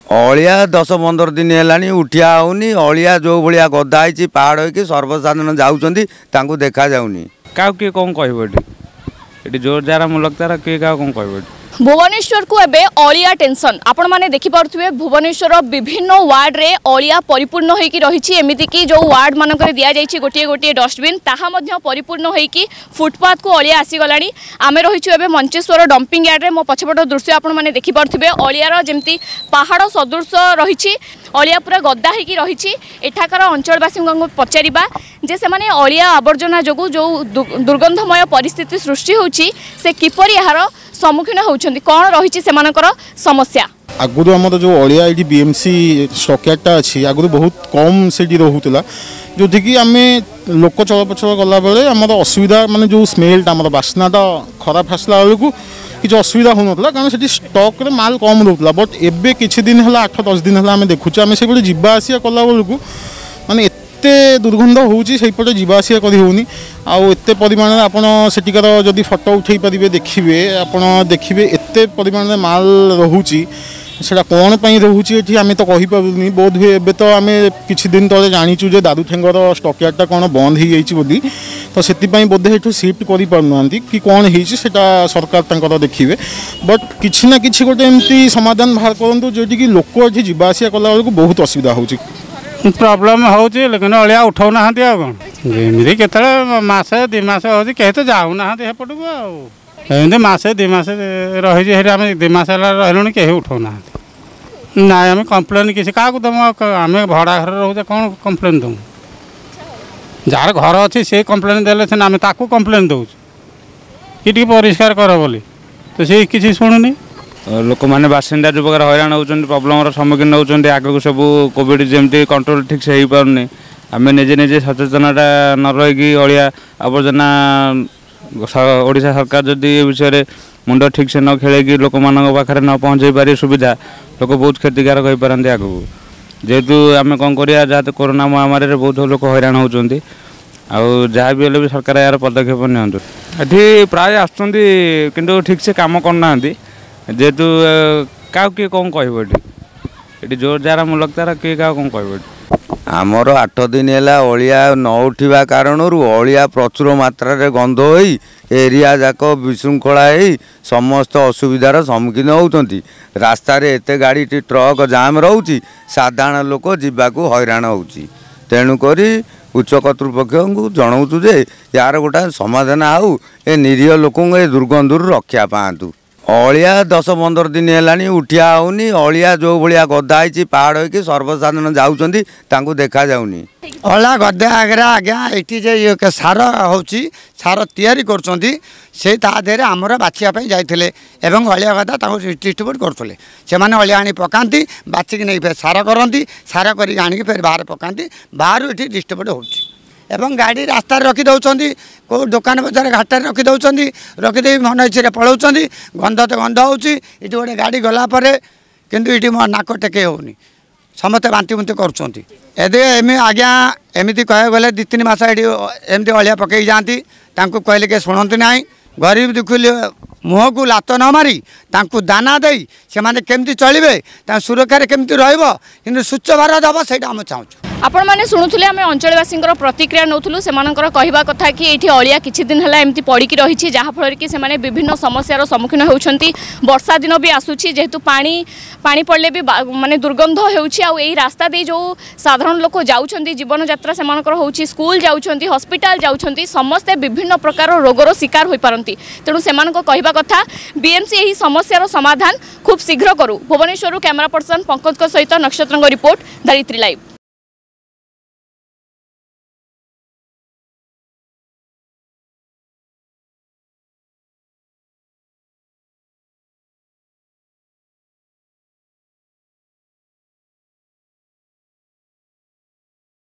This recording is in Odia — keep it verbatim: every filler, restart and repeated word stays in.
ଅଳିଆ ଦଶ ପନ୍ଦର ଦିନ ହେଲାଣି ଉଠିଆ ହେଉନି। ଅଳିଆ ଯେଉଁ ଭଳିଆ ଗଦା ହେଇଛି ପାହାଡ଼ ହେଇକି, ସର୍ବସାଧାରଣ ଯାଉଛନ୍ତି, ତାଙ୍କୁ ଦେଖାଯାଉନି। କାହାକୁ କିଏ କ'ଣ କହିବ ଏଠି? ଏଠି ଜୋର ଯାହାର ମୁଲକ ତାର, କିଏ କାହାକୁ କ'ଣ କହିବ ଏଠି? ଭୁବନେଶ୍ୱରକୁ ଏବେ ଅଳିଆ ଟେନସନ୍। ଆପଣମାନେ ଦେଖିପାରୁଥିବେ, ଭୁବନେଶ୍ୱର ବିଭିନ୍ନ ୱାର୍ଡ଼ରେ ଅଳିଆ ପରିପୂର୍ଣ୍ଣ ହୋଇକି ରହିଛି। ଏମିତିକି ଯେଉଁ ୱାର୍ଡ଼ ମାନଙ୍କରେ ଦିଆଯାଇଛି ଗୋଟିଏ ଗୋଟିଏ ଡଷ୍ଟବିନ୍, ତାହା ମଧ୍ୟ ପରିପୂର୍ଣ୍ଣ ହୋଇକି ଫୁଟପାଥକୁ ଅଳିଆ ଆସିଗଲାଣି। ଆମେ ରହିଛୁ ଏବେ ମଞ୍ଚେଶ୍ୱର ଡମ୍ପିଂ ୟାର୍ଡ଼ରେ। ମୋ ପଛପଟ ଦୃଶ୍ୟ ଆପଣମାନେ ଦେଖିପାରୁଥିବେ, ଅଳିଆର ଯେମିତି ପାହାଡ଼ ସଦୃଶ ରହିଛି, ଅଳିଆ ପୁରା ଗଦା ହେଇକି ରହିଛି। ଏଠାକାର ଅଞ୍ଚଳବାସୀଙ୍କୁ ପଚାରିବା ଯେ ସେମାନେ ଅଳିଆ ଆବର୍ଜନା ଯୋଗୁଁ ଯେଉଁ ଦୁର୍ଗନ୍ଧମୟ ପରିସ୍ଥିତି ସୃଷ୍ଟି ହେଉଛି, ସେ କିପରି ଏହାର ସମ୍ମୁଖୀନ ହେଉଛନ୍ତି, କ'ଣ ରହିଛି ସେମାନଙ୍କର ସମସ୍ୟା। ଆଗରୁ ଆମର ଯେଉଁ ଅଳିଆ ଏଇଠି ବି ଏମ୍ ସି ଷ୍ଟକୟାର୍ଡ଼ଟା ଅଛି, ଆଗରୁ ବହୁତ କମ୍ ସେଇଠି ରହୁଥିଲା, ଯେଉଁଠିକି ଆମେ ଲୋକ ଚଳପ୍ରଚଳ କଲାବେଳେ ଆମର ଅସୁବିଧା, ମାନେ ଯେଉଁ ସ୍ମେଲ୍ଟା, ଆମର ବାସ୍ନାଟା ଖରାପ ଆସିଲା ବେଳକୁ କିଛି ଅସୁବିଧା ହେଉନଥିଲା, କାରଣ ସେଠି ଷ୍ଟକ୍ରେ ମାଲ କମ୍ ରହୁଥିଲା। ବଟ୍ ଏବେ କିଛି ଦିନ ହେଲା, ଆଠ ଦଶ ଦିନ ହେଲା, ଆମେ ଦେଖୁଛୁ, ଆମେ ସେଇପଟେ ଯିବା ଆସିବା କଲା ବେଳକୁ ମାନେ ଏତେ ଦୁର୍ଗନ୍ଧ ହେଉଛି, ସେଇପଟେ ଯିବା ଆସିବା କରି ହେଉନି। ଆଉ ଏତେ ପରିମାଣରେ, ଆପଣ ସେଠିକାର ଯଦି ଫଟୋ ଉଠେଇ ପାରିବେ ଦେଖିବେ, ଆପଣ ଦେଖିବେ ଏତେ ପରିମାଣରେ ମାଲ ରହୁଛି। ସେଇଟା କ'ଣ ପାଇଁ ରହୁଛି ଏଠି ଆମେ ତ କହିପାରୁନି। ବୋଧ ହୁଏ ଏବେ ତ ଆମେ କିଛି ଦିନ ତଳେ ଜାଣିଛୁ ଯେ ଦାରୁଠେଙ୍ଗର ଷ୍ଟକୟାର୍ଡ଼ଟା କ'ଣ ବନ୍ଦ ହେଇଯାଇଛି ବୋଲି, ତ ସେଥିପାଇଁ ବୋଧେ ଏଠୁ ସିଫ୍ଟ କରିପାରୁନାହାନ୍ତି କି କ'ଣ ହେଇଛି, ସେଇଟା ସରକାର ତାଙ୍କର ଦେଖିବେ। ବଟ୍ କିଛି ନା କିଛି ଗୋଟେ ଏମିତି ସମାଧାନ ବାହାର କରନ୍ତୁ, ଯେଉଁଠିକି ଲୋକ ଏଠି ଯିବା ଆସିବା କଲାବେଳକୁ ବହୁତ ଅସୁବିଧା ହେଉଛି। ପ୍ରୋବ୍ଲେମ୍ ହେଉଛି, ଲେକିନ ଅଳିଆ ଉଠାଉନାହାନ୍ତି। ଆଉ କ'ଣ, ଯେମିତି କେତେବେଳେ ମାସେ ଦୁଇ ମାସ ହେଉଛି, କେହି ତ ଯାଉନାହାନ୍ତି ସେପଟକୁ। ଆଉ ଏମିତି ମାସେ ଦୁଇ ମାସ ରହିଛି ସେଠି, ଆମେ ଦୁଇ ମାସ ହେଲା ରହିଲୁଣି, କେହି ଉଠାଉନାହାନ୍ତି। ନାଇଁ, ଆମେ କମ୍ପ୍ଲେନ୍ କିଛି କାହାକୁ ଦେବୁ? ଆମେ ଭଡ଼ା ଘରେ ରହୁଛେ, କ'ଣ କମ୍ପ୍ଲେନ୍ ଦେବୁ? ଯାହାର ଘର ଅଛି ସେ କମ୍ପ୍ଲେନ୍ ଦେଲେ ସିନା। ଆମେ ତାକୁ କମ୍ପ୍ଲେନ୍ ଦେଉଛୁ କି ଟିକେ ପରିଷ୍କାର କର ବୋଲି, ତ ସେ କିଛି ଶୁଣୁନି। ଲୋକମାନେ ବାସିନ୍ଦା ଯେଉଁ ପ୍ରକାର ହଇରାଣ ହେଉଛନ୍ତି, ପ୍ରୋବ୍ଲେମର ସମ୍ମୁଖୀନ ହେଉଛନ୍ତି, ଆଗକୁ ସବୁ କୋଭିଡ଼ ଯେମିତି କଣ୍ଟ୍ରୋଲ ଠିକ୍ସେ ହେଇପାରୁନି, ଆମେ ନିଜେ ନିଜେ ସଚେତନଟା ନ ରହିକି ଅଳିଆ ଆବର୍ଜନା, ଓଡ଼ିଶା ସରକାର ଯଦି ଏ ବିଷୟରେ ମୁଣ୍ଡ ଠିକ୍ସେ ନ ଖେଳେଇକି ଲୋକମାନଙ୍କ ପାଖରେ ନ ପହଞ୍ଚେଇ ପାରିବେ ସୁବିଧା, ଲୋକ ବହୁତ କ୍ଷତିକାରକ ହୋଇପାରନ୍ତି ଆଗକୁ। ଯେହେତୁ ଆମେ କ'ଣ କରିବା, ଯାହା କରୋନା ମହାମାରୀରେ ବହୁତ ଲୋକ ହଇରାଣ ହେଉଛନ୍ତି, ଆଉ ଯାହା ବି ହେଲେ ବି ସରକାର ଏହାର ପଦକ୍ଷେପ ନିଅନ୍ତୁ। ଏଠି ପ୍ରାୟ ଆସୁଛନ୍ତି, କିନ୍ତୁ ଠିକ୍ସେ କାମ କରୁନାହାନ୍ତି। ଯେହେତୁ କାହାକୁ କିଏ କ'ଣ କହିବ ଏଠି? ଏଠି ଜୋର ଯାହାର ମୁଲକ ତାର, କିଏ କାହାକୁ କ'ଣ କହିବ ଏଠି? ଆମର ଆଠ ଦିନ ହେଲା ଅଳିଆ ନ ଉଠିବା କାରଣରୁ ଅଳିଆ ପ୍ରଚୁର ମାତ୍ରାରେ ଗନ୍ଧ ହୋଇ ଏରିଆ ଯାକ ବିଶୃଙ୍ଖଳା ହେଇ ସମସ୍ତ ଅସୁବିଧାର ସମ୍ମୁଖୀନ ହେଉଛନ୍ତି। ରାସ୍ତାରେ ଏତେ ଗାଡ଼ି ଟ୍ରକ୍ ଜାମ୍ ରହୁଛି, ସାଧାରଣ ଲୋକ ଯିବାକୁ ହଇରାଣ ହେଉଛି। ତେଣୁକରି ଉଚ୍ଚ କର୍ତ୍ତୃପକ୍ଷଙ୍କୁ ଜଣାଉଛୁ ଯେ ୟାର ଗୋଟାଏ ସମାଧାନ ହେଉ, ଏ ନିରୀହ ଲୋକଙ୍କୁ ଏ ଦୁର୍ଗନ୍ଧରୁ ରକ୍ଷା ପାଆନ୍ତୁ। ଅଳିଆ ଦଶ ପନ୍ଦର ଦିନ ହେଲାଣି ଉଠିଆ ହେଉନି। ଅଳିଆ ଯେଉଁ ଭଳିଆ ଗଦା ହେଇଛି ପାହାଡ଼ ହେଇକି, ସର୍ବସାଧାରଣ ଯାଉଛନ୍ତି, ତାଙ୍କୁ ଦେଖାଯାଉନି। ଅଳିଆ ଗଦା ଆଗରେ ଆଜ୍ଞା, ଏଠି ଯେ ସାର ହେଉଛି, ସାର ତିଆରି କରୁଛନ୍ତି, ସେଇ ତା ଦେହରେ ଆମର ବାଛିବା ପାଇଁ ଯାଇଥିଲେ ଏବଂ ଅଳିଆ ଗଦା ତାକୁ ଡିଷ୍ଟ୍ରିବ୍ୟୁଟ୍ କରୁଥିଲେ। ସେମାନେ ଅଳିଆ ଆଣି ପକାନ୍ତି, ବାଛିକି ନେଇ ଫେର ସାର କରନ୍ତି, ସାର କରିକି ଆଣିକି ଫେର ବାହାରେ ପକାନ୍ତି, ବାହାରୁ ଏଠି ଡିଷ୍ଟ୍ରିବ୍ୟୁଟ୍ ହେଉଛି। ଏବଂ ଗାଡ଼ି ରାସ୍ତାରେ ରଖିଦେଉଛନ୍ତି, କେଉଁ ଦୋକାନ ବଜାର ଘାଟରେ ରଖିଦେଉଛନ୍ତି, ରଖିଦେଇ ମନ ଇଚ୍ଛାରେ ପଳାଉଛନ୍ତି। ଗନ୍ଧ ତ ଗନ୍ଧ ହେଉଛି। ଏଠି ଗୋଟେ ଗାଡ଼ି ଗଲା ପରେ କିନ୍ତୁ ଏଠି ମୋ ନାକ ଟେକେଇ ହେଉନି, ସମସ୍ତେ ବାନ୍ତି ବୁନ୍ତି କରୁଛନ୍ତି। ଏବେ ଏମି ଆଜ୍ଞା, ଏମିତି କହିବାକୁ ଗଲେ ଦୁଇ ତିନି ମାସ ଏଠି ଏମିତି ଅଳିଆ ପକେଇକି ଯାଆନ୍ତି। ତାଙ୍କୁ କହିଲେ କିଏ ଶୁଣନ୍ତି ନାହିଁ। ଗରିବ ଦୁଃଖୀ ମୁହଁକୁ ଲାତ ନ ମାରି ତାଙ୍କୁ ଦାନା ଦେଇ ସେମାନେ କେମିତି ଚଳିବେ, ତାଙ୍କ ସୁରକ୍ଷାରେ କେମିତି ରହିବ, କିନ୍ତୁ ସ୍ୱଚ୍ଛ ଭାରତ ହେବ, ସେଇଟା ଆମେ ଚାହୁଁଛୁ। ଆପଣମାନେ ଶୁଣୁଥିଲେ, ଆମେ ଅଞ୍ଚଳବାସୀଙ୍କର ପ୍ରତିକ୍ରିୟା ନେଉଥିଲୁ। ସେମାନଙ୍କର କହିବା କଥା କି ଏଇଠି ଅଳିଆ କିଛି ଦିନ ହେଲା ଏମିତି ପଡ଼ିକି ରହିଛି, ଯାହାଫଳରେ କି ସେମାନେ ବିଭିନ୍ନ ସମସ୍ୟାର ସମ୍ମୁଖୀନ ହେଉଛନ୍ତି। ବର୍ଷା ଦିନ ବି ଆସୁଛି, ଯେହେତୁ ପାଣି ପାଣି ପଡ଼ିଲେ ବି ମାନେ ଦୁର୍ଗନ୍ଧ ହେଉଛି। ଆଉ ଏଇ ରାସ୍ତା ଦେଇ ଯେଉଁ ସାଧାରଣ ଲୋକ ଯାଉଛନ୍ତି, ଜୀବନଯାତ୍ରା ସେମାନଙ୍କର ହେଉଛି, ସ୍କୁଲ ଯାଉଛନ୍ତି, ହସ୍ପିଟାଲ ଯାଉଛନ୍ତି, ସମସ୍ତେ ବିଭିନ୍ନ ପ୍ରକାର ରୋଗର ଶିକାର ହୋଇପାରନ୍ତି। ତେଣୁ ସେମାନଙ୍କ କହିବା କଥା ବିଏମ୍ସି ଏହି ସମସ୍ୟାର ସମାଧାନ ଖୁବ୍ ଶୀଘ୍ର କରୁ। ଭୁବନେଶ୍ୱରରୁ କ୍ୟାମେରା ପର୍ସନ ପଙ୍କଜଙ୍କ ସହିତ ନକ୍ଷତ୍ରଙ୍କ ରିପୋର୍ଟ, ଧରିତ୍ରୀ ଲାଇଭ୍।